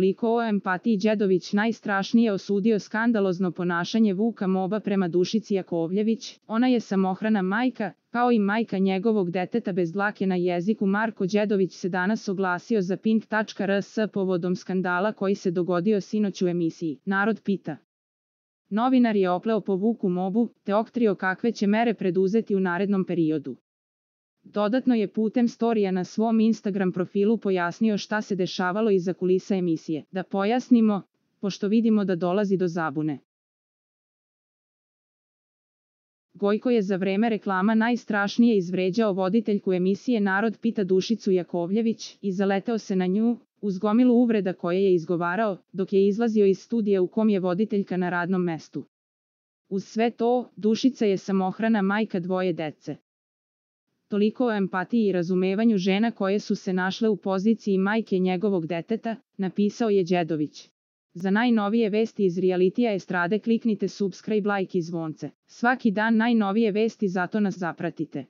Toliko o empatiji. Đedović najstrašnije osudio skandalozno ponašanje Vuka Moba prema Dušici Jakovljević. Ona je samohrana majka, kao i majka njegovog deteta bez dlake na jeziku. Marko Đedović se danas oglasio za Pink.rs povodom skandala koji se dogodio sinoć u emisiji Narod pita. Novinar je opleo po Vuku Mobu, te otkrio kakve će mere preduzeti u narednom periodu. Dodatno je putem storija na svom Instagram profilu pojasnio šta se dešavalo iza kulisa emisije. Da pojasnimo, pošto vidimo da dolazi do zabune. Gojko je za vreme reklama najstrašnije izvređao voditeljku emisije Narod pita Dušicu Jakovljević i zaleteo se na nju, uz gomilu uvreda koje je izgovarao, dok je izlazio iz studija u kom je voditeljka na radnom mestu. Uz sve to, Dušica je samohrana majka dvoje dece. Toliko o empatiji i razumevanju žena koje su se našle u poziciji majke njegovog deteta, napisao je Đedović. Za najnovije vesti iz realitija estrade kliknite subscribe, like i zvonce. Svaki dan najnovije vesti, zato nas zapratite.